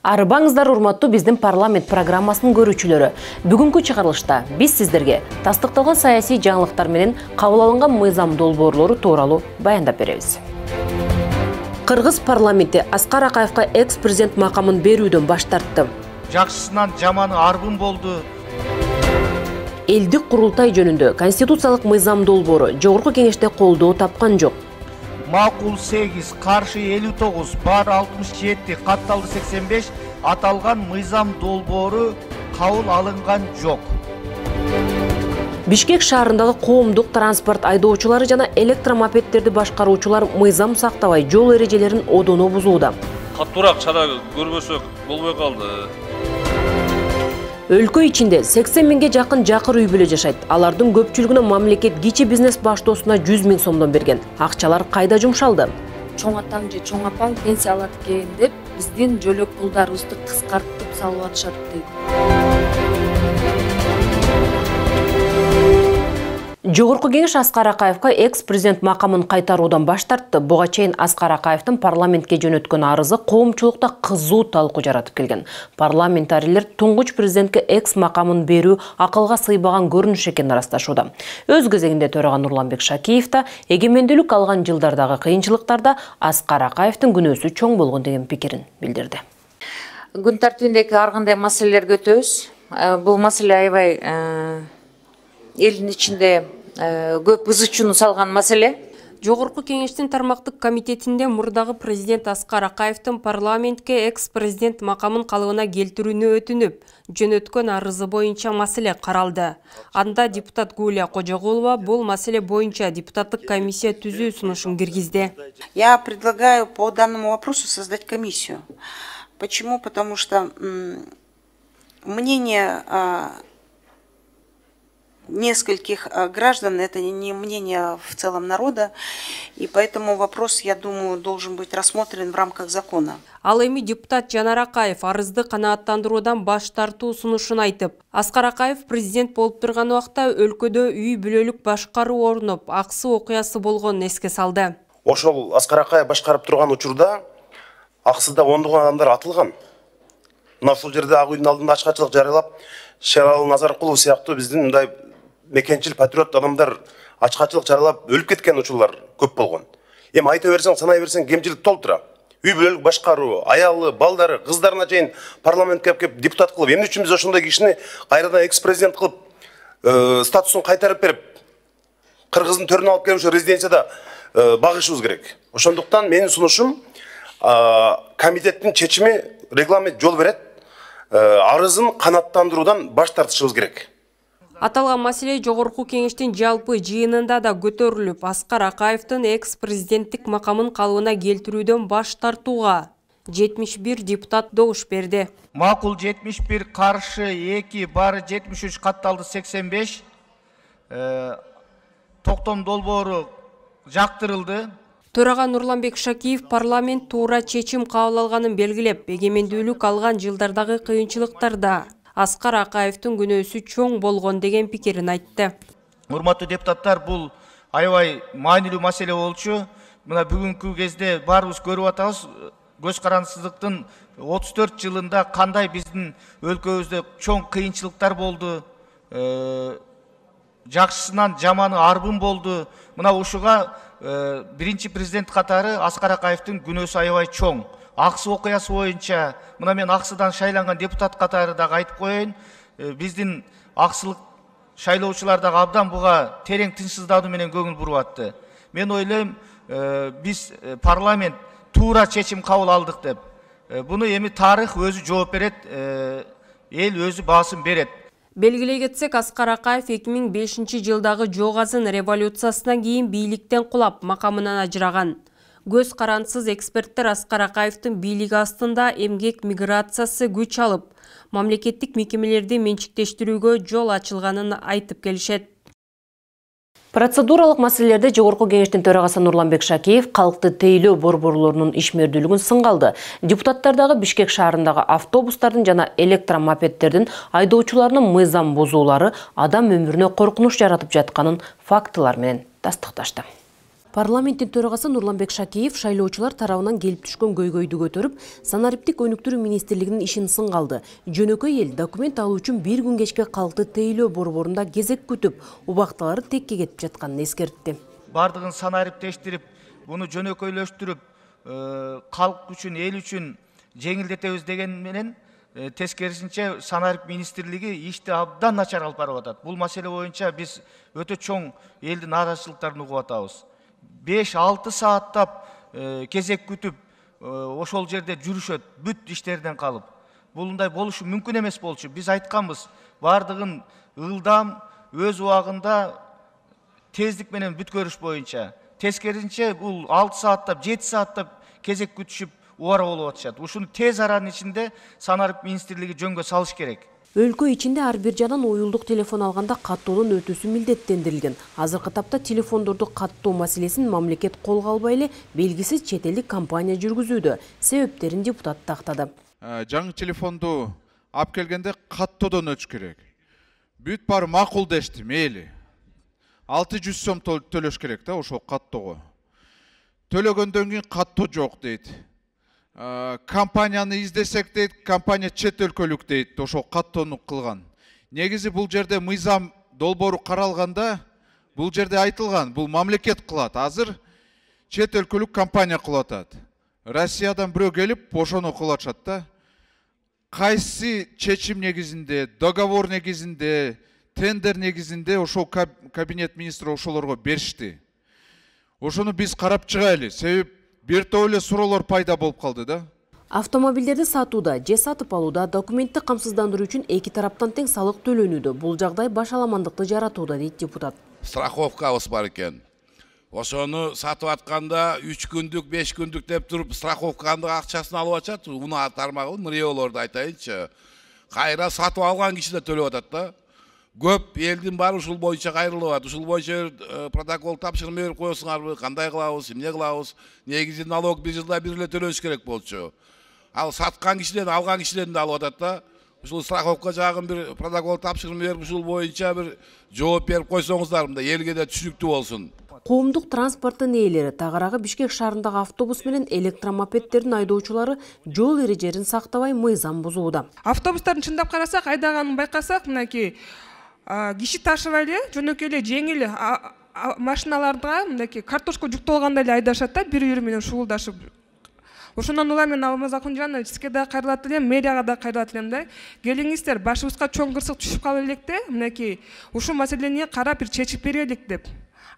Арыбаңыздар урматтуу биздин парламент программасынын көрүүчүлөрү. Бүгүнкү чыгарылышта биз сиздерге тастыкталган саясий жаңылыктар менен кабыл алынган мыйзам долбоорлору тууралуу баяндап беребиз. Кыргыз парламенти Аскар Акаевка экс-президент макамын берүүдөн баш тартты. Жакшысынан жаманы арбын болду. Элдик курултай жөнүндө конституциялык мыйзам долбоору жогорку кеңеште колдоо тапкан жок. Макул 8, каршы 59, бар 67, катталды 85 аталган мыйзам долбоору кабыл алынган жок. Бишкек шаарындагы коомдук транспорт айдоочулары жана электромопеддерди башкаруучулар мыйзам сактабай жол эрежелерин одоно бузууда. Каттуураак чара көрбөсөк болбой калды. Өлкө ичинде 80 миңге жакын жакыр үй бүлө жашайт. Алардын көпчүлүгүнө мамлекет кичи бизнес баштоосуна 100 миң сомдон берген. Акчалар кайда жумшалды? Чоң атаң же чоң апаң пенсия алат экен деп биздин жөлөк пулдарыбызды кыскартып салып атышат дейт. Жогорку кеңеш Аскар Акаевка экс-президент макамын кайтаруудан баш тартты. Буга чейин Аскар Акаевдин парламентке жөнөткөн арызы коомчулукта кызуу талкуу жаратып келген. Парламентарийлер туңгуч президентке экс макамын берүү акылга сыйбаган көрүнүш экенин ырасташууда. Өз кезегинде төрага Нурланбек Шакиев да эгемендүүлүк алган жылдардагы кыйынчылыктарда Аскар Акаевдин күнөөсү чоң болгон деген пикирин билдирди. Күн тартибиндеги ар кандай маселелерди өтөбүз. Бул маселе аябай элдин ичинде көп ыз чууну салган маселе. Жогорку кеңештин тармактык комитетинде мурдагы президент Аскар Акаевдин парламентке экс-президент макамын калыбына келтирүүнү өтүнүп, жөнөткөн арызы боюнча маселе каралды. Анда депутат Гулия Кожогулова бул маселе боюнча депутаттык комиссия түзүү сунушун киргизди. Я предлагаю по данному вопросу создать комиссию. Почему? Потому что мнение нескольких граждан, это не мнение в целом народа, и поэтому вопрос, я думаю, должен быть рассмотрен в рамках закона. Ал эми депутат Жанар Акаев арызды канааттандыруудан баш тартуу сунушун айтып, Аскар Акаев президент болуп турган убакта өлкөдө үй бүлөлүк башкаруу орнуп, аксы окуясы болгонун эске салды. Ошол Аскар Акаев башкарып турган учурда аксыда ондогон адамдар атылган. Мына ушул жерде ак үйдүн алдында ачкачылык жарыялап, Шералы Назаркулов сыяктуу биздин мындай мекенчил патриот адамдар ачкачылык жаралап өлүп кеткен учурлар көп болгон. Эми айта берсең, санай берсең кемчилик толтура. Үй бүлөлүк башкаруу, аялы, балдары, кыздарына чейин парламентке кеп депутат кылып, эмне үчүн биз ошондой кишини кайрадан экс-президент кылып, статусун кайтарып берип, Кыргыздын төрүнө алып келип ошо резиденцияда багышыбыз керек. Ошондуктан менин сунушум, комитеттин чечими, регламент жол берет, арызын канааттандыруудан баш тартышыбыз керек. Аталган маселе жогорку кеңештин жалпы жыйынында да көтөрүлүп, Аскар Акаевдин экс-президенттик макамын калыбына келтирүүдөн баш тартууга 71 депутат добуш берди. Макул 71, каршы 2, бары 73, катталды 85. Токтом долбоору жактырылды. Төрага Нурланбек Шакиев парламент туура чечим кабыл алганын белгилеп, эгемендүүлүк алган жылдардагы кыйынчылыктарда Аскар Акаевдин күнөөсү чоң болгон деген пикирин айтты. Урматтуу депутаттар, бул аябай маанилүү маселе болчу. Мына бүгүнкү кезде баарыбыз көрүп атабыз, көз карансыздыктын 34 жылында кандай биздин өлкөбүздө чоң кыйынчылыктар болду. Жакшысынан жаманы арбын болду. Мына ушуга биринчи президент катары Аскар Акаевдин күнөөсү аябай чоң. Аксы окуясы боюнча, мына мен аксыдан шайланган депутат катары дагы айтып коеюн, биздин аксылык шайлоочулар дагы абдан буга терең тынчсыздануу менен көңүл буруп атты. Мен ойлойм, биз парламент туура чечим кабыл алдык деп. Буну эми тарых өзү жооп берет, эл өзү баасын берет. Белгилей кетсек, Аскар Акаев 2005 жылдагы Жок азын революциясынан кийин бийликтен кулап, макамынан ажыраган. Көз карансыз эксперттер Аскар Акаевдин бийлиги астында эмгек миграциясы күч алып, мамлекеттик мекемелерди менчиктештирүүгө жол ачылганын айтып келишет. Процедуралык маселелерде жогорку кеңештин төрагасы Нурланбек Шакиев калкты тейлөө борборлорунун ишмердүүлүгүн сынга алды. Депутаттардагы Бишкек шаарындагы автобустардын жана электромопеддердин айдоочуларынын мыйзам бузуулары адам өмүрүнө коркунуч жаратып жатканын фактылар менен тастыкташты. Парламенттин төрагасы Нурланбек Шакеев шайлоочулар тарабынан келип түшкөн көйгөйдү көтөрүп, санариптик өнүктүрүү министрлигинин ишин сынга алды. Жөнөкөй эл документ алуу үчүн бир күн кечке калкты тейлөө борборунда кезек күтүп, убактылары текке кетип жатканын эскертти. Бардыгын санариптештирип, буну жөнөкөйлөштүрүп, калк үчүн, эл үчүн жеңилдетебиз деген менен тескерисинче санарип министрлиги ишти абдан начар алып барып атат. Бул маселе боюнча биз өтө чоң элдин нааразычылыктарын угуп атабыз. 5-6 сааттап кезек күтүп, ошол жерде жүрүшөт, бүт иштерден калып. Булундай болушу мүмкүн эмес болчу. Биз айтканбыз, бардыгын ылдам, өз убагында тездик менен бүткөрүш боюнча. Тескерисинче бул 6 сааттап, 7 сааттап кезек күтүшүп убара болуп атышат. Ушуну тез аранын ичинде санарип министрлиги жөнгө салыш керек. Өлкө ичинде ар бир жадан уюлдук телефон алганда каттоодон өтүүсү милдеттендирилген. Азыркы тапта телефондорду каттоо маселесин мамлекет колго албай эле белгисиз чет элдик компания жүргүзүүдө. Себептерин депутат тактады. Жаңы телефонду алып келгенде каттоодон өтүш керек. Бүт баары макул дешти, мейли. 600 сом төлөш керек да ошол каттоого. Төлөгөндөн кийин каттоо жок дейт. Компанияны издесек дейт, компания чет өлкөлүк дейт, ошол каттоону кылган. Негизи бул жерде мыйзам долбоору каралганда, бул жерде айтылган, бул мамлекет кылат. Азыр чет өлкөлүк компания кылып атат. Россиядан бирөө келип, ошону кылып атышат да. Кайсы чечим негизинде, договор негизинде, тендер негизинде ошол кабинет министри ошолорго беришти. Ошону биз карап чыгайлы. Себеп бир топ эле суроолор пайда болуп калды да. Автомобилдерди сатууда же сатып алууда документти камсыздандыруу үчүн эки тараптан тең салык төлөнүүдө. Бул жагдай башаламандыкты жаратууда дейт депутат. Страховкабыз бар экен. Ошону сатып атканда 3 күндүк, 5 күндүк деп туруп страховканын акчасын алып атат. Унаа тармагын мыриолорду айтайынчы. Кайра сатып алган киши да төлөп атат да. Көп элдин баары ушул боюнча кайрылып атат. Ушул боюнча протокол тапшырма берип коесуңарбы, кандай кылабыз, эмне кылабыз? Негизи налог 1 жылда бир эле төлөш керек болчу. Ал саткан кишиден, алган кишиден да алып атат да. Ушул страховка жагын бир протокол тапшырма берип, ушул боюнча бир жооп берип койсоңуздар, мында элге да түшүнүктүү болсун. Коомдук транспорттун ээлери тагыраагы Бишкек шаарындагы автобус менен электромопеддердин айдоочулары жол эрежелерин сактабай мыйзам бузууда. Автобустардын чындап карасак, айдаганын байкасак, мынакей киши ташыбай эле жөнөкөй эле жеңил машиналарга мынакей картошка жүктөлгандай эле айдашат да, бири-бири менен шугулдашып. Ошондон улам мен Алмаз Акунжанов сизге да кайрылат элем, мэрияга да кайрылат элем да. Келиңиздер, башыбызга чоң кырсык түшүп калып электе, мынакей ушул маселени карап бир чечип берелик деп.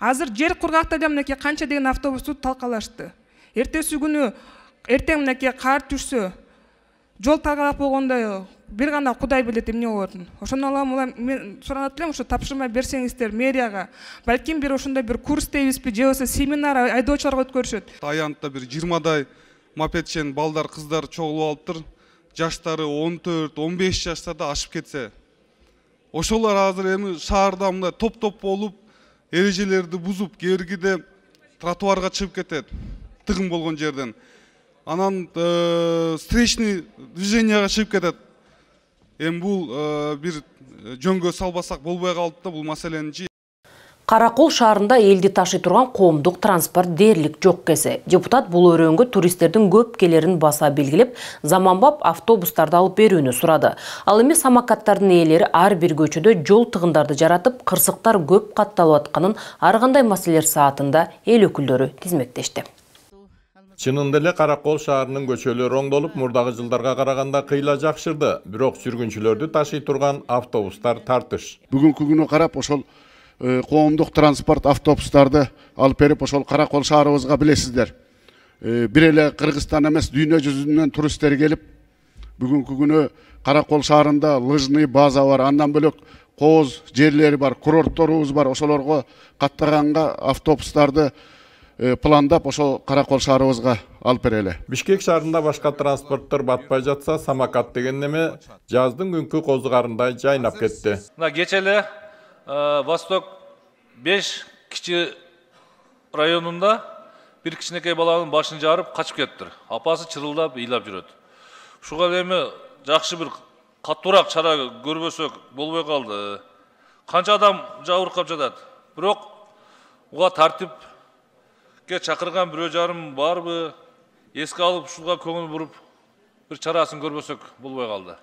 Азыр жер кургакта эле мынакей канча деген автобусту талкалашты. Эртеси күнү эртең мынакей кар түшсө, жол талкалап болгондо бир гана Кудай билет эмне болотун. Ошондон улам мен суранат элем, ошо тапшырма берсеңиздер мэрияга. Балким бир ошондой бир курс дейбизби, же болбосо семинар айдоочуларга өткөрүшөт. Аянтта бир 20дай мопедчен балдар, кыздар чогулуп алыптыр. Жаштары 14-15 жаштарда ашып кетсе. Ошолор азыр эми шаарда мындай топ-топ болуп, эрежелерди бузуп, кээргиде тротуарга чыгып кетет. Тыгын болгон жерден. Анан встречный движенияга чыгып кетет. Эми бул бир жөнгө салбасак болбой калды да бул маселени. Каракол шаарында элди ташый турган коомдук транспорт дээрлик жок кесе. Депутат бул өрөөнгө туристтердин көп келерин баса белгилеп, заманбап автобустарды алып берүүнү сурады. Ал эми самокаттардын ээлери ар бир көчөдө жол тыгындарды жаратып, кырсыктар көп катталып атканын ар кандай маселелер саатында эл өкүлдөрү тизмектешти. Чынында эле Каракол шаарынын көчөлөрү оңдолуп, мурдагы жылдарга караганда кыйла жакшырды. Бирок жүргүнчүлөрдү ташый турган автобустар тартыш. Бүгүнкү күнү карап ошол коомдук транспорт автобустарды алып берип, ошол Каракол шаарыбызга билесиздер. Бир эле Кыргызстан эмес, дүйнө жүзүнөн туристтер келип, бүгүнкү күнү Каракол шаарында лыжный база бар, андан бөлөк кооз жерлери бар, курортторубуз бар. Ошолорго каттаганга автобустарды пландап ошол Каракол шаарыбызга алып берели. Бишкек шаарында башка транспорттор батпай жатса, самокат деген неме жаздын күнкү козугарындай жайнап кетти. Мына кече эле Восток 5 кичи районунда бир кичинекей баланын башын жарып качып кеттир. Апасы чырылдап, ыйлап жүрөт. Ушуга эми жакшы бир каттуураак чара көрбөсөк болбой калды. Канча адам жабыркап жатат. Бирок уга тартип Бизге чакырган 1,5 барбы? Эске алып ушуга көңүл буруп бир чарасын көрбөсөк болбой калды.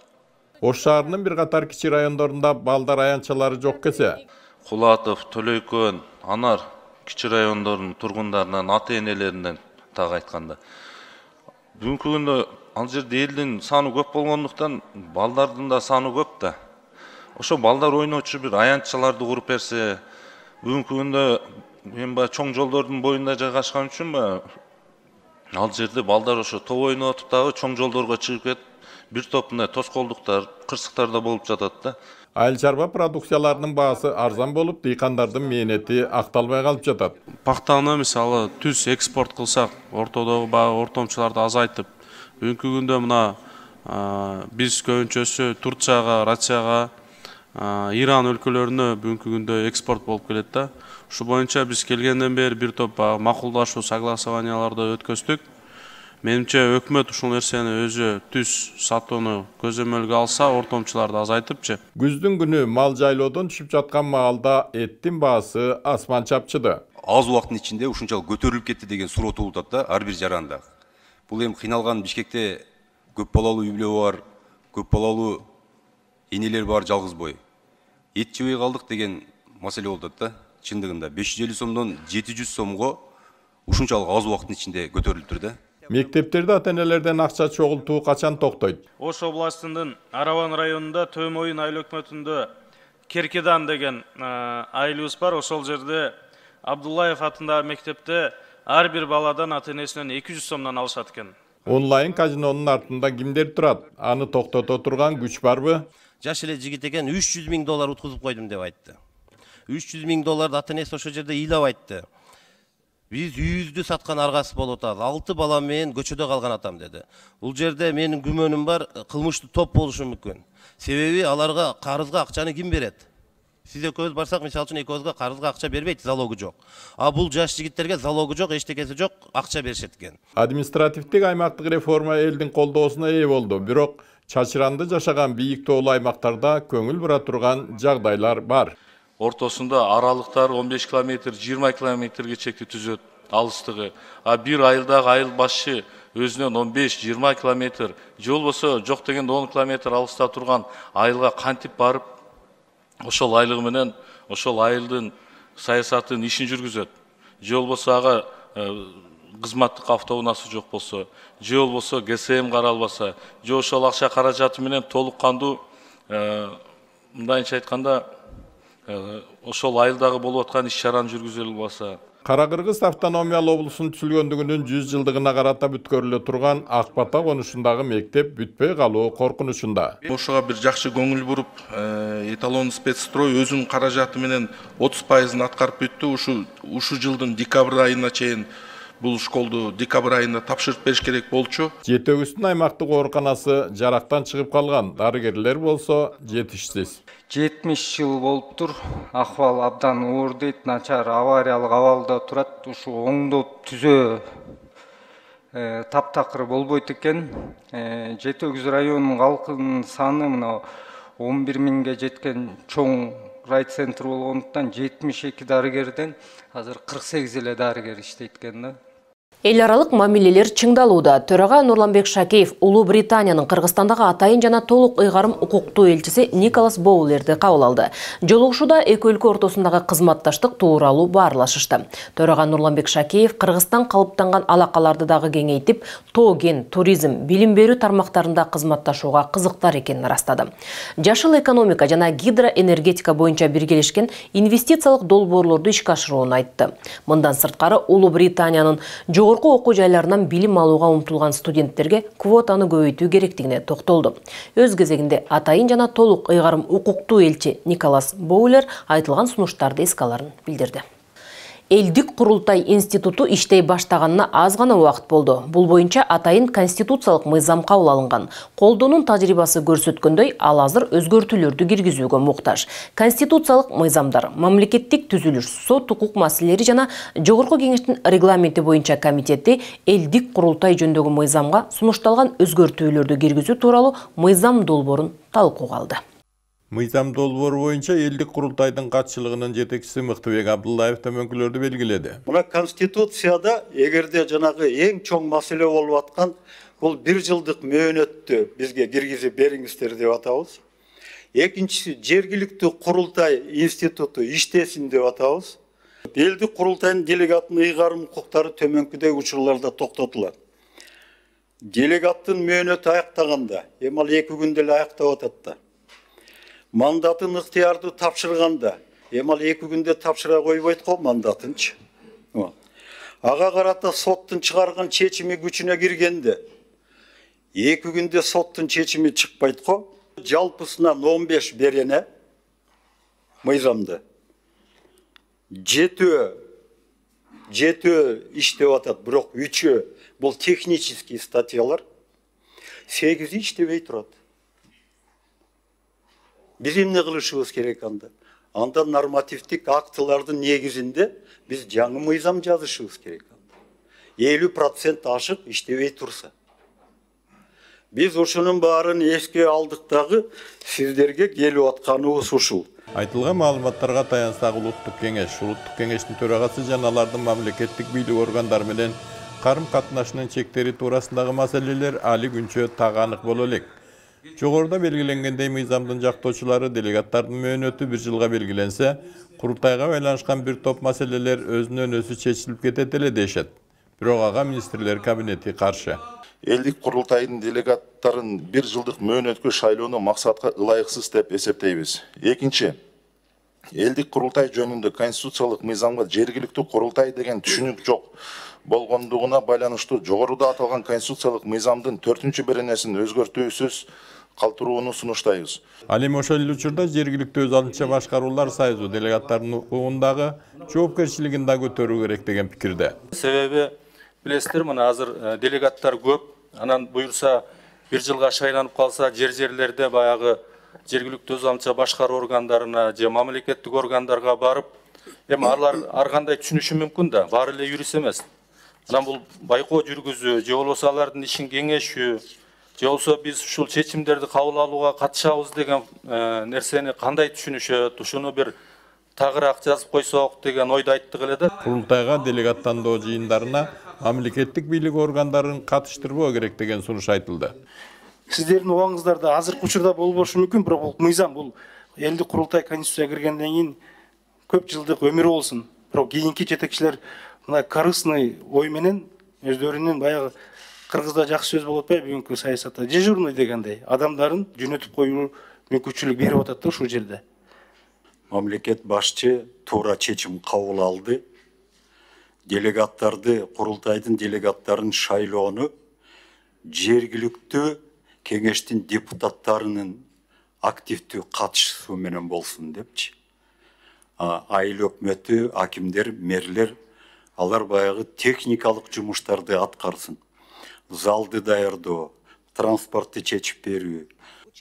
Ош шаарынын бир катар кичи райондорунда балдар аянтчалары жок кесе. Кулатов, Төлөйкөн, Анар кичи райондордун тургундарынан, ата-энелеринен так айтканда. Бүгүнкү күндө ал жерде элдин саны көп болгондуктан балдардын да саны көп да. Ошо балдар ойночу бир аянтчаларды куруп берсе, бүгүнкү күндө мен чоң жолдордун боюнда жайгашкан үчүн ал жерде балдар ошо топ ойноп атып дагы чоң жолдорго чыгып кетип, бир топ мындай тоскоолдуктар, кырсыктар да болуп жатат да. Айыл чарба продукцияларынын баасы арзан болуп, дыйкандардын мээнети акталбай калып жатат. Пактаны мисалы түз экспорт кылсак, ортодогу баягы ортомчуларды азайтып, бүгүнкү күндө мына биз көбүнчөсү Турцияга, Россияга, Иран өлкөлөрүнө бүгүнкү күндө экспорт болуп келет да. Ушу боюнча биз келгенден бери бир топ макулдашуу согласованияларды өткөздүк. Менимче өкмөт ушул нерсени өзү түз сатууну көзөмөлгө алса, ортомчуларды азайтыпчы. Күздүн күнү мал жайлоодон түшүп жаткан маалда эттин баасы асман чапчыды. Аз убакыттын ичинде ушунчалык көтөрүлүп кетти деген суроо туулуп атат да ар бир жаранда. Бул эми кыйналган Бишкекте көп балалуу үй бүлө бар, көп балалуу энелер бар жалгыз бой. Эт жебей калдык деген маселе болуп атат да. Чындыгында 550 сомдон 700 сомго ушунчалык аз убакыттын ичинде көтөрүлүптүр да. Мектептерде ата-энелерден акча чогултуу качан токтойт? Ош областынын Араван районунда Төмөйүн айыл өкмөтүндө Керкедан деген айылыбыз бар. Ошол жерде Абдуллаев атындагы мектепте ар бир баладан ата-энесинен 200 сомдон алышат экен. Онлайн казинонун артында кимдер турат? Аны токтото турган күч барбы? Жаш эле жигит экен, $300 000 уткузуп койдум деп айтты. $300 000 ата-энеси ошол жерде ыйлап айтты. Биз үйүздү саткан аргасы болуп атат. 6 бала менен көчөдө калган атам деди. Бул жерде менин күмөнүм бар, кылмыштуу топ болушу мүмкүн. Себеби аларга карызга акчаны ким берет? Сиз экөөбүз барсак, мисалы үчүн экөөбүзгө карызга акча бербейт, залогу жок. А бул жаш жигиттерге залогу жок, эчтекеси жок, акча беришет экен. Административдик аймактык реформа элдин колдоосуна ээ болду, бирок чачыранды жашаган бийик тоолуу аймактарда көңүл бура турган жагдайлар бар. Ортосунда аралыктар 15 км, 20 км чекти түзөт алыстыгы. А бир айылдагы айыл башчы өзүнөн 15-20 км, же болбосо жок дегенде 10 км алыста турган айылга кантип барып, ошол айлыгы менен ошол айылдын саясатын ишин жүргүзөт. Же болбосо ага кызматтык автоунаасы жок болсо, же болбосо ГСМ каралбаса, же ошол акча каражаты менен толук кандуу мындайча айтканда ошол айылдагы болуп аткан иш-чараны жүргүзө албаса. Кара-Кыргыз автономиялуу облусунун түзүлгөндүгүнүн 100 жылдыгына карата бүткөрүлө турган Ак Бата конушундагы мектеп бүтпөй калуу коркунучунда. Ошого бир жакшы көңүл буруп, эталон спецстрой өзүнүн каражаты менен 30% аткарып бүттү. Ушу жылдын декабрь айына чейин бул школду декабрь айында тапшырып бериш керек болчу. Жетөгүстүн аймактык ооруканасы жарактан чыгып калган, дарыгерлер болсо жетишсиз. 70 жыл болуптур, акыбал абдан оор дейт, начар авариялык абалда турат. Ушу оңдоп түзөө таптакыр болбойт экен. Жетөгүз районунун калкынын саны мына 11 000ге жеткен чоң райцентр болгондуктан 72 дарыгерден азыр 48 эле дарыгер иштейт экен да. Эл аралык мамилелер чыңдалууда. Төрага Нурланбек Шакеев Улуу Британиянын Кыргызстандагы атайын жана толук ыйгарым укуктуу элчиси Николас Боулерди кабыл алды. Жолугушууда эки өлкө ортосундагы кызматташтык тууралуу баарлашышты. Төрага Нурланбек Шакеев Кыргызстан калыптанган алакаларды дагы кеңейтип, тоо-кен, туризм, билим берүү тармактарында кызматташууга кызыктар экенин ырастады. Жашыл экономика жана гидроэнергетика боюнча биргелешкен инвестициялык долбоорлорду ишке ашырууну айтты. Мындан сырткары Улуу Британиянын жогорку окуу жайларынан билим алууга умтулган студенттерге квотаны көбөйтүү керектигине токтолду. Өз кезегинде атайын жана толук ыйгарым укуктуу элчи Николас Боулер айтылган сунуштарды эске аларын билдирди. Элдик курултай институту иштей баштаганына аз гана убакыт болду. Бул боюнча атайын конституциялык мыйзам кабыл алынган. Колдоонун тажрыйбасы көрсөткөндөй, ал азыр өзгөртүүлөрдү киргизүүгө муктаж. Конституциялык мыйзамдар, мамлекеттик түзүлүш, сот укук маселелери жана жогорку кеңештин регламенти боюнча комитети элдик курултай жөнүндөгү мыйзамга сунушталган өзгөртүүлөрдү киргизүү тууралуу мыйзам долбоорун талкууга алды. Мыйзам долбоору боюнча элдик курултайдын катчылыгынын жетекчиси Мыктыбек Абдуллаев төмөнкүлөрдү белгиледи. Мына Конституцияда эгерде жанагы эң чоң маселе болуп аткан бул 1 жылдык мөөнөттү бизге киргизип бериңиздер деп атабыз. Экинчиси жергиликтүү курултай институту иштесин деп атабыз. Элдик курултайдын делегаттын ыйгарым укуктары төмөнкүдөгү учурларда токтотулат. Делегаттын мөөнөтү аяктаганда, эми ал 2 күндө эле аяктап атат да. Мандатын ыктыярды тапшырганда, эми ал 2 күндө тапшыра койбойт го мандатынчы. Ага карата соттун чыгарган чечими күчүнө киргенде 2 күндө соттун чечими чыкпайт го. Жалпысынан 15 берене мыйзамда. Жетөө иштеп атат, бирок 3 бул технический статьялар, 8 иштебей турат. Биз эмне кылышыбыз керек анда? Анда нормативдик актылардын негизинде биз жаңы мыйзам жазышыбыз керек. 50% ашык иштебей турса. Биз ушунун баарын эске алдык дагы, сиздерге келип атканыбыз ушул. Айтылган маалыматтарга таянсак Улуттук кеңештин төрагасы жана алардын мамлекеттик бийлик органдары менен карым катнашынын чектери туурасындагы маселелер али күнчө так анык боло элек. Жогоруда белгиленгендей мыйзамдын жактоочулары делегаттардын мөөнөтү 1 жылга белгиленсе, курултайга байланышкан бир топ маселелер өзүнөн өзү чечилип кетет эле дешет. Бирок ага министрлер кабинети каршы. Элдик курултайдын делегаттарын 1 жылдык мөөнөткө шайлоону максатка ылайыксыз деп эсептейбиз. Экинчи, элдик курултай жөнүндө конституциялык мыйзамга жергиликтүү курултай деген түшүнүк жок болгондугуна байланыштуу жогоруда аталган конституциялык мыйзамдын 4-чү беренесин өзгөртүүсүз калтырууну сунуштайбыз. Ал эми ошол эле учурда жергиликтүү өз алдынча башкаруулар союзу делегаттардын укугундагы жоопкерчилигин да көтөрүү керек деген пикирде. Себеби билесиздер, мына азыр делегаттар көп, анан буюрса 1 жылга шайланып калса жерлерде баягы жергиликтүү өз алдынча башкаруу органдарына же мамлекеттик органдарга барып, эми алар ар кандай түшүнүшү мүмкүн да, баары эле юрист эмес. Анан бул байкоо жүргүзүү, же болбосо алардын ишин кеңешүү, же болбосо биз ушул чечимдерди кабыл алууга катышабыз деген нерсени кандай түшүнүшөт, ушуну бир тагыраак жазып койсок деген ойду айттык эле да. Курултайга делегаттандоо жыйындарына мамлекеттик бийлик органдарын катыштырбоо керек деген сунуш айтылды. Сиздердин убаңыздарда азыркы учурда болбошу мүмкүн, бирок бул мыйзам, бул элдик курултай конституцияга киргенден кийин көп жылдык өмүр болсун. Бирок кийинки жетекчилер мына корыстный ой менен өздөрүнүн баягы кыргызда жакшы сөз болуп атпайбы бүгүнкү саясатта, дежурный дегендей адамдарын жөнөтүп коюу мүмкүнчүлүк берип атат да ушул жерде. Мамлекет башчы туура чечим кабыл алды. Делегаттарды, курултайдын делегаттарын шайлоону жергиликтүү кеңештин депутаттарынын активдүү катышуусу менен болсун депчи. Айыл өкмөтү, акимдер, мэрлер, алар баягы техникалык жумуштарды аткарсын. Залды даярдоо, транспортты чечип берүү.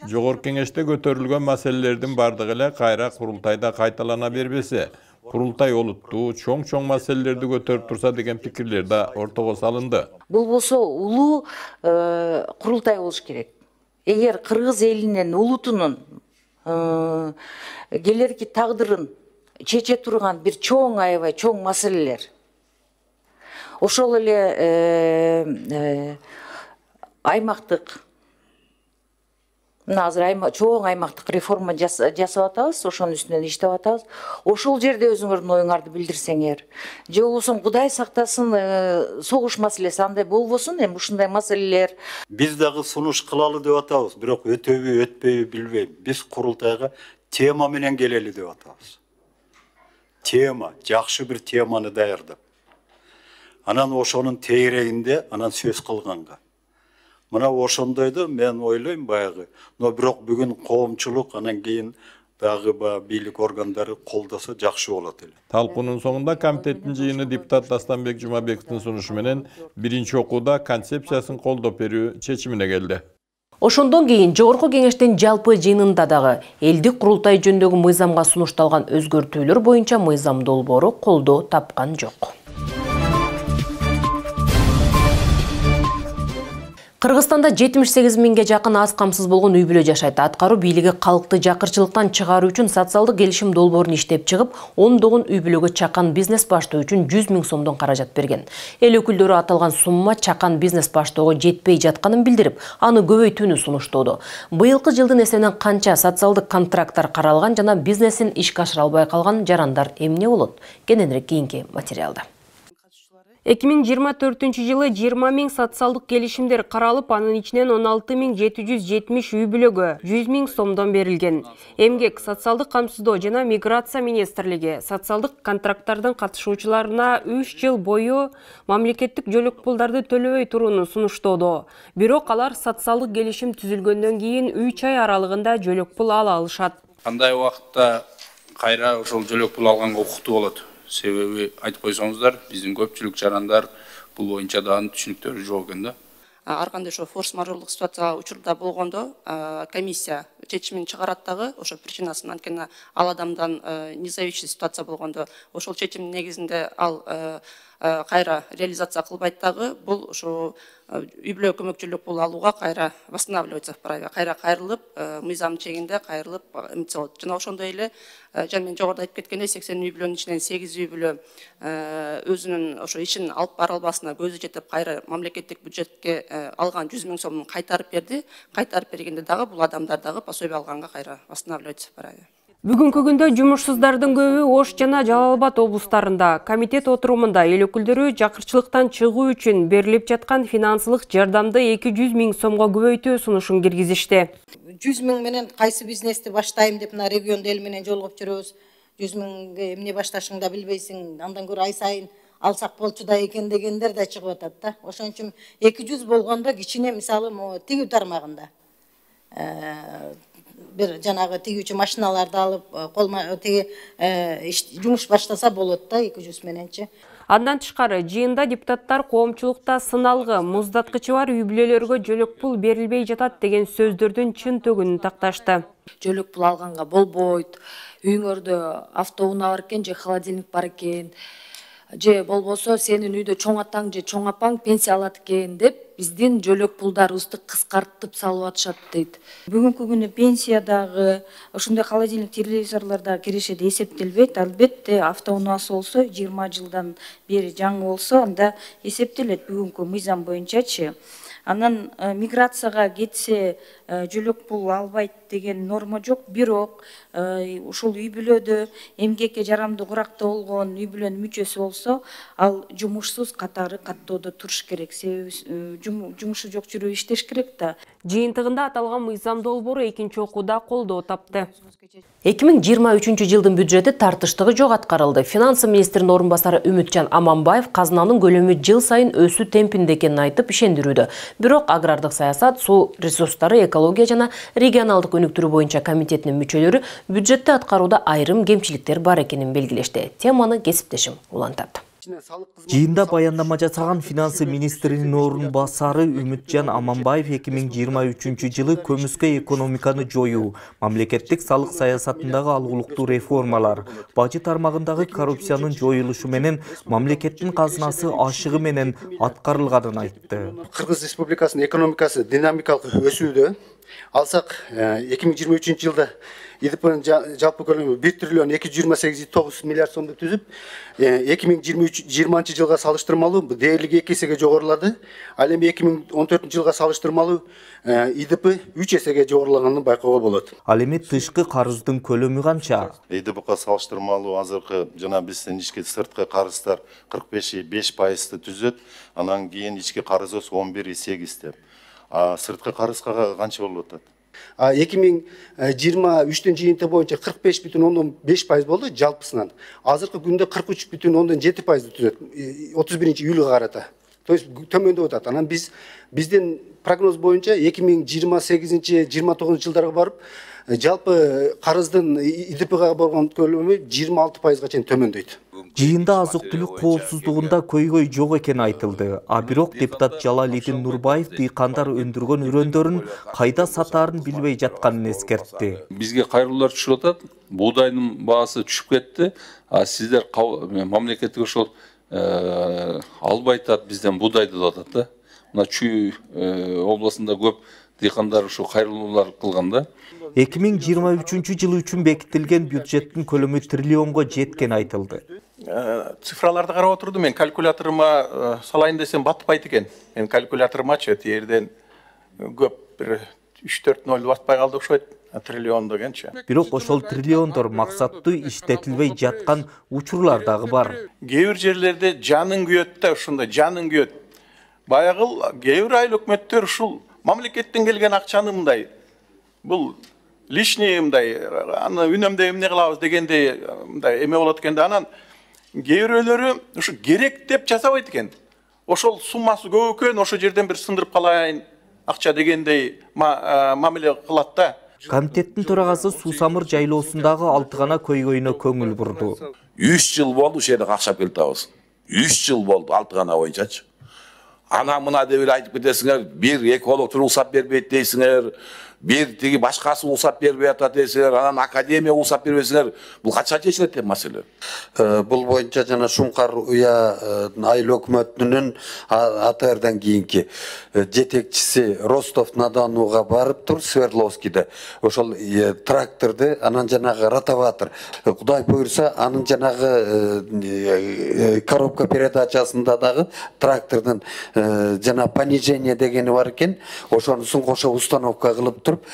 Жогорку кеңеште көтөрүлгөн маселелердин бардыгы эле кайра курултайда кайталана бербесе, курултай олуттуу, чоң маселелерди көтөрүп турса деген пикирлер да ортого салынды. Бул болсо улуу курултай болуш керек. Эгер кыргыз элинин улутунун келерки тагдырын чече турган бир чоң аябай чоң маселелер, ошол эле аймактык, мына азыр чоң аймактык реформа жасап атабыз, ошонун үстүнөн иштеп атабыз. Ошол жерде өзүңөрдүн оюңарды билдирсеңер, же болбосо Кудай сактасын согуш маселеси андай болбосун, эми ушундай маселелер. Биз дагы сунуш кылалы деп атабыз, бирок өтөбү, өтпөйбү билбейм. Биз курултайга тема менен келели деп атабыз. Тема, жакшы бир теманы даярдап. Анан ошонун тегерегинде анан сөз кылганга. Мына ошондойду мен ойлойм баягы. Но бирок бүгүн коомчулук анан кийин дагы бийлик органдары колдосо жакшы болот эле. Талкуунун соңунда комитеттин жыйыны депутат Дастанбек Жумабековдун сунушу менен биринчи окууда концепциясын колдоп берүү чечимине келди. Ошондон кийин жогорку кеңештин жалпы жыйынында дагы элдик курултай жөнүндөгү мыйзамга сунушталган өзгөртүүлөр боюнча мыйзам долбоору колдоо тапкан жок. Кыргызстанда 78 миңге жакын аз камсыз болгон үй бүлө жашайт. Аткаруу бийлиги калкты жакырчылыктан чыгаруу үчүн социалдык келишим долбоорун иштеп чыгып, ондогон үй бүлөгө чакан бизнес баштоо үчүн 100 миң сомдон каражат берген. Эл өкүлдөрү аталган сумма чакан бизнес баштоого жетпей жатканын билдирип, аны көбөйтүүнү сунуштоодо. Быйылкы жылдын эсебинен канча социалдык контракттар каралган жана бизнесин ишке ашыра албай калган жарандар эмне болот? Кененирээк кийинки материалда. 2024 жылы 20 миң социалдык келишимдер каралып, анын ичинен 16.770 үй бүлөгө 100 миң сомдон берилген. Эмгек, социалдык камсыздоо жана миграция министрлиги социалдык контракттардын катышуучуларына 3 жыл бою мамлекеттик жөлөк пулдарды төлөбөй турууну сунуштоодо. Бирок алар социалдык келишим түзүлгөндөн кийин 3 ай аралыгында жөлөк пул ала алышат. Кандай убакытта кайра ошол жөлөк пул алганга укуктуу болот? Себеби айтып койсоңуздар, биздин көпчүлүк жарандар бул боюнча дагы түшүнүктөрү жок экен да. Ар кандай ошо форс-мажорлук ситуация учурда болгондо комиссия чечимин чыгарат дагы ошо причинасын, анткени ал адамдан независимый ситуация болгондо ошол чечимдин негизинде ал кайра реализация кылбайт дагы, бул ошо үй бүлө көмөкчүлүк пул алууга кайра восстанавливаться вправе, кайра кайрылып, мыйзам чегинде кайрылып эмче болот. Жана ошондой эле жана мен жогоруда айтып кеткендей 80 үй бүлөнүн ичинен 8 үй бүлө өзүнүн ошо ишин алып бара албасына көзү жетип кайра мамлекеттик бюджетке алган 100 миң сомун кайтарып берди. Кайтарып бергенде дагы бул адамдар дагы пособие алганга кайра восстанавливаться вправе. Бүгүнкү күндө жумушсуздардын көбү Ош жана Жалал Абад облустарында. Комитет отурумунда эл өкүлдөрү жакырчылыктан чыгуу үчүн берилип жаткан финансылык жардамды 200 миң сомго көбөйтүү сунушун киргизишти. 100 миң менен кайсы бизнести баштайм деп мына региондо эл менен жолугуп жүрөбүз. 100 миңге эмне башташыңды да билбейсиң, андан көрө ай сайын алсак болчу да экен дегендер да чыгып атат да. Ошон үчүн 200 болгондо кичине мисалы тигүү тармагында бир жанагы тигүүчү машиналарды алып, жумуш баштаса болот да 200 мененчи. Андан тышкары жыйында депутаттар коомчулукта сыналгы, муздаткычы бар үй бүлөлөргө жөлөк пул берилбей жатат деген сөздөрдүн чын төгүнүн такташты. Жөлөк пул алганга болбойт, үйүңөрдө автоунаа бар экен же холодильник бар экен, же болбосо сенин үйдө чоң атаң же чоң апаң пенсия алат экен деп биздин жөлөк пулдарыбызды кыскартып салып атышат дейт. Бүгүнкү күнү пенсия дагы, ошондой холодильник, телевизорлор дагы кирешет эсептелбейт. Албетте автоунаасы болсо 20 жылдан бери жаңы болсо анда эсептелет бүгүнкү мыйзам боюнчачы. Анан миграцияга кетсе жөлөк пул албайт деген норма жок, бирок ушул үй бүлөдө эмгекке жарамдуу куракта болгон үй бүлөнүн мүчөсү болсо, ал жумушсуз катары каттоодо туруш керек. Себеби жумушу жок жүрүп иштеш керек да. Жыйынтыгында аталган мыйзам долбоору экинчи окууда колдоо тапты. 2023 жылдын бюджети тартыштыгы жок аткарылды. Финансы министринин орун басары Үмүтжан Аманбаев казынанын көлөмү жыл сайын өсүү темпинде экенин айтып ишендирүүдө. Бирок агрардык саясат, суу ресурстары, экология жана регионалдык өнүктүрүү боюнча комитетинин мүчөлөрү бюджетти аткарууда айрым кемчиликтер бар экенин белгилешти. Теманы кесиптешим улантат. Жыйында баяндама жасаган финансы министринин орун басары Үмүтжан Аманбаев 2023 жылы көмүскө экономиканы жоюу, мамлекеттик салык саясатындагы алгылыктуу реформалар, бажы тармагындагы коррупциянын жоюлушу менен мамлекеттин казынасы ашыгы менен аткарылганын айтты. Кыргыз Республикасынын экономикасы динамикалык өсүүдө. Алсак 2023 жылда ИДПнын жалпы көлөмү 1 триллион 228,9 миллиард сомду түзүп, 2020 жылга салыштырмалуу дээрлиги 2 эсеге жогорулады. Ал эми 2014 жылга салыштырмалуу ИДП 3 эсеге жогорулаганын байкоого болот. Ал эми тышкы карыздын көлөмү канча? ИДПга салыштырмалуу азыркы жана биздин ички сырткы карыздар 45,5% түзөт, анан кийин ички карызыбыз 11,8 деп. Сырткы карызга канча болуп атат? 2023 жыйынты боюнча 45,5% болду жалпысынан. Азыркы күндө 43,7% түзөт. 31 июлга карата. То есть төмөндөп атат. Анан биздин прогноз боюнча 2028-29 жылдарга барып жалпы карыздын ИДПга болгон көлөмү 26%га чейин төмөндөйт. Жыйында азык-түлүк коопсуздугунда көйгөй жок экени айтылды. А бирок депутат Жалалидин Нурбаев дыйкандар өндүргөн үрөндөрүн кайда сатаарын билбей жатканын эскертти. Бизге кайрылуулар түшүп атат. Буудайдын баасы түшүп кетти. А сиздер мамлекеттик ошол албай атат, бизден буудайды деп атат да. мына Чүй областында көп дыйкандар ушу кайрылуулар кылган да. 2023 жылы үчүн бекитилген бюджеттин көлөмү триллионго жеткени айтылды. Цифраларды карап отурдум, мен калькуляторума салайын десем батпайт экен. Мен калькуляторумачы тиерден көп бир 3-4 ноль батпай калды окшойт. Триллион дегенчи. Бирок ошол триллиондор максаттуу иштетилбей жаткан учурлар дагы бар. Кээ бир жерлерде жаның күйөт да, ушундай жаның күйөт. Баягы кээ бир айыл өкмөттөр ушул мамлекеттен келген акчаны мындай бул лишний мындай аны үнөмдөй эмне кылабыз дегендей мындай эме болот экен да, анан кээ бирөөлөрү ушу керек деп жасабайт экен. Ошол суммасы көп экен, ошол жерден бир сындырып калайын акча дегендей мамиле кылат да. Комитеттин төрагасы Суусамыр жайлоосундагы 6 гана көйгөйүнө көңүл бурду. 3 жыл болду ушул жерде акча келип атабыз. 3 жыл болду 6 гана боюнчачы. Ана мына деп эле айтып кетесиңер, бир эколог уруксат бербейт дейсиңер, бир тиги башкасы уруксат бербей атат дейсиңер, анан академия уруксат бербесиңер. Бул качка чечилет деп маселе. Бул боюнча жана Шуңкар уя айыл өкмөтүнүн атырдан кийинки жетекчиси Ростов-на-Донуга барып тур, Свердловскийде. Ошол тракторду, анан жанагы ротоватор. Кудай буйрса, анын жанагы коробка передачасында дагы трактордун жана понижение дегени бар экен. Ошонусун кошо установка кылып туруп,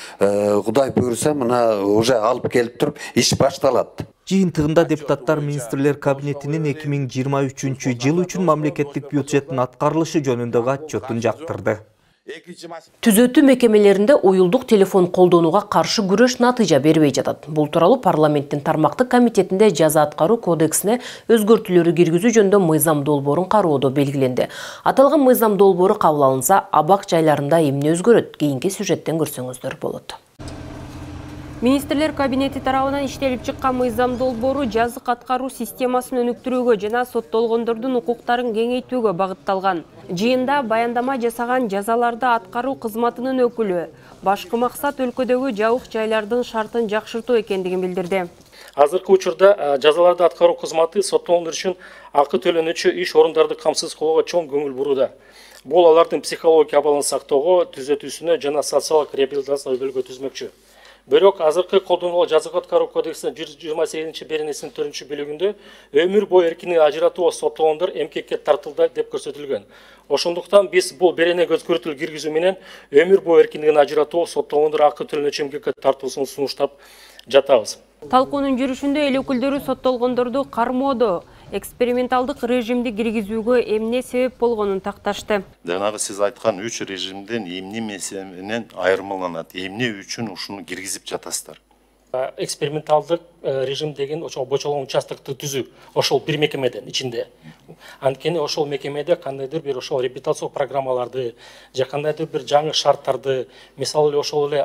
Кудай буйрса, мына уже алып келип туруп, иш башталат. Жыйынтыгында депутаттар министрлер кабинетинин 2023 жыл үчүн мамлекеттик бюджеттин аткарылышы жөнүндөгү отчетун жактырды. Түзөтүү мекемелеринде уюлдук телефон колдонууга каршы күрөш натыйжа бербей жатат. Бул тууралуу парламенттин тармактык комитетинде жаза аткаруу кодексине өзгөртүүлөрү киргизүү жөнүндө мыйзам долбоорун кароодо белгиленди. Аталган мыйзам долбоору кабыл алынса, абак жайларында эмне өзгөрөт? Кийинки сюжеттен көрсөңүздөр болот. Министрлер кабинети тарабынан иштелип чыккан мыйзам долбоору жазык аткаруу системасын өнүктүрүүгө жана соттолгондордун укуктарын кеңейтүүгө багытталган. Жыйында баяндама жасаган жазаларды аткаруу кызматынын өкүлү башкы максат өлкөдөгү жабык жайлардын шартын жакшыртуу экендигин билдирди. Азыркы учурда жазаларды аткаруу кызматы соттолгондор үчүн акы төлөнүүчү иш орундарды камсыз кылууга чоң көңүл бурууда. Бул алардын психология абалын сактоого, түзөтүүсүнө жана социалдык реабилитацияга өбөлгө түзмөкчү. Бирок азыркы колдонулган жазык аткаруу кодексинин 128 беренесинин 4-бөлүгүндө өмүр бою эркиндигин ажыратууга соттолгондор эмкекке тартылды деп көрсөтүлгөн. Ошондуктан биз бул беренеге өзгөртүү киргизүү менен өмүр бою эркиндигин ажыратууга соттолгондор акы төлөнүүчү эмкекке тартуусун сунуштап жатабыз. Талкуунун жүрүшүндө эл өкүлдөрү соттолгондорду кармоодо эксперименталдык режимди киргизүүгө эмне себеп болгонун такташты. Жанагы сиз айткан 3 режимден эмне менен айырмаланат? Эмне үчүн ушуну киргизип жатасыздар? Эксперименталдык режим деген ошол бочолгон участокту түзүү, ошол бир мекемеден ичинде. Анткени ошол мекемеде кандайдыр бир ошол реабилитациялык программаларды, же кандайдыр бир жаңы шарттарды, мисалы ошол эле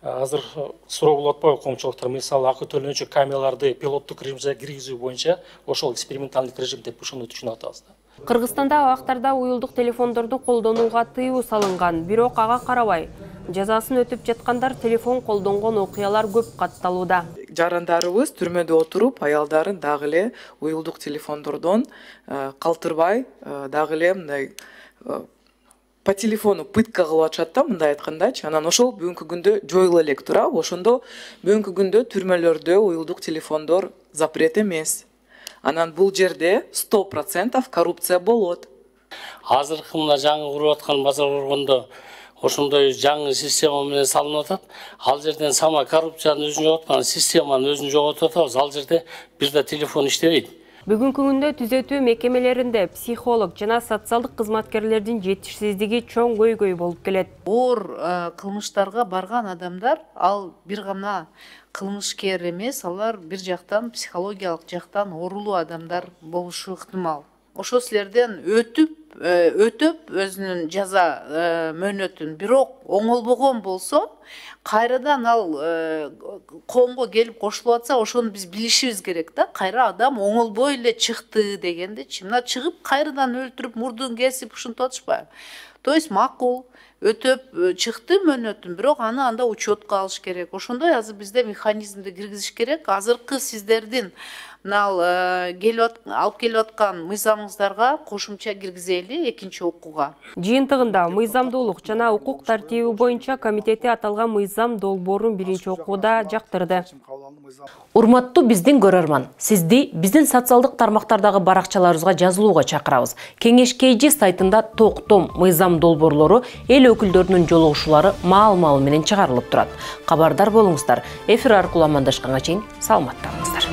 азыр суроо болуп атпайбы коомчулуктар, мисалы акы төлөнүүчү камераларды пилоттук режимге киргизүү боюнча ошол эксперименталдык режим деп ушуну түшүнүп атабыз. Кыргызстанда абактарда уюлдук телефондорду колдонууга тыюу салынган, бирок ага карабай жазасын өтүп жаткандар телефон колдонгон окуялар көп катталууда. Жарандарыбыз түрмөдө отуруп, аялдарын дагы эле уюлдук телефондордон калтырбай, дагы эле мындай по телефону пытка кылып атышат да, мындай айткандачы. Анан ошол бүгүнкү күндө жоюла элек турабы? Ошондо бүгүнкү күндө түрмөлөрдө уюлдук телефондор запрет эмес. Анан бул жерде 100% коррупция болот. Азыркы мына жаңы куруп аткан базар боргондо ошондой жаңы система менен салынып атат. Ал жерден сама коррупциянын өзүн жоготкан, системанын өзүн жоготуп атабыз. Ал жерде бир да телефон иштебейт. Бүгүнкү күндө түзөтүү мекемелеринде психолог жана социалдык кызматкерлердин жетишсиздиги чоң көйгөй болуп келет. Оор кылмыштарга барган адамдар ал бир гана кылмышкер эмес, алар бир жактан психологиялык жактан оорулуу адамдар болушу ыктымал. Ошол силерден өтөп өзүнүн жаза мөөнөтүн бирок оңолбогон болсо, кайрадан ал коомго келип кошулуп атса, ошону биз билишибиз керек да. Кайра адам оңолбой эле чыкты дегендечи. Мына чыгып кайрадан өлтүрүп, мурдун кесип ушинтип атышпайбы? То есть макул өтөп чыкты мөөнөтүн, бирок аны анда учетко алыш керек. Ошондой азыр бизде механизмди киргизиш керек. Азыркы сиздердин мынал алып келип аткан мыйзамыңыздарга кошумча киргизели экинчи окууга. Жыйынтыгында мыйзамдуулук жана укук тартиби боюнча комитети аталган мыйзам долбоорун биринчи окууда жактырды. Урматтуу биздин көрөрман, сизди биздин социалдык тармактардагы баракчаларыбызга жазылууга чакырабыз. Кеңеш KG сайтында токтом мыйзам долбоорлору эл өкүлдөрүнүн жолугушуулары маал-маал менен чыгарылып турат. Кабардар болуңуздар. Эфир аркылуу амандашканга чейин саламатта болуңуздар.